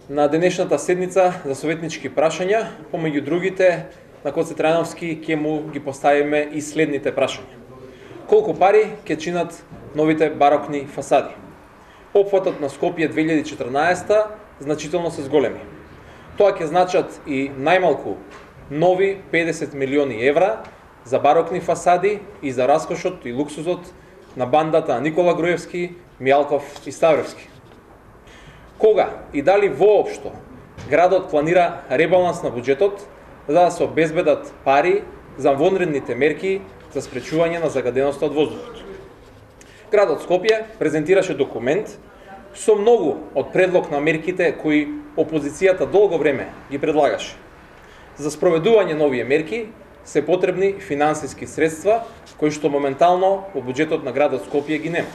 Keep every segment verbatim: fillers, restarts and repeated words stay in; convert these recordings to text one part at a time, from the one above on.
На денешната седница за советнички прашања, помеѓу другите, на Гоце Трајановски ќе му ги поставиме и следните прашања. Колку пари ќе чинат новите барокни фасади? Опфатот на Скопје две илјади и четрнаесета значително се зголеми. Тоа ќе значат и најмалку нови педесет милиони евра за барокни фасади и за раскошот и луксузот на бандата на Никола Груевски, Мијалков и Ставревски. Кога и дали воопшто градот планира ребаланс на буџетот за да се обезбедат пари за вонредните мерки за спречување на загаденоста од воздухот? Градот Скопје презентираше документ со многу од предлог на мерките кои опозицијата долго време ги предлагаше. За спроведување на овие мерки се потребни финансиски средства кои што моментално во буџетот на градот Скопје ги нема.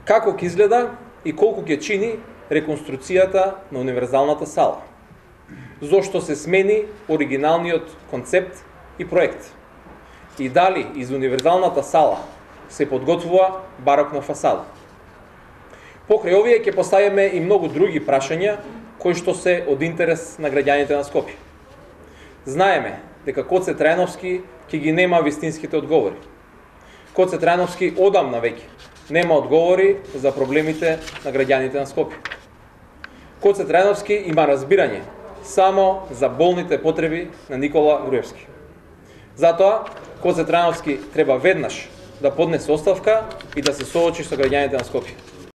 Како ќе изгледа и колку ќе чини реконструкцијата на универзалната сала? Зошто се смени оригиналниот концепт и проект? И дали из универзалната сала се подготвува барокна фасада? Покрај овие ќе поставиме и многу други прашања кои што се од интерес на граѓаните на Скопје. Знаеме дека Гоце Трајановски ќе ги нема вистинските одговори. Гоце Трајановски одамна веќе нема одговори за проблемите на граѓаните на Скопје. Гоце Трајановски има разбирање само за болните потреби на Никола Груевски. Затоа Гоце Трајановски треба веднаш да поднесе оставка и да се соочи со граѓаните на Скопје.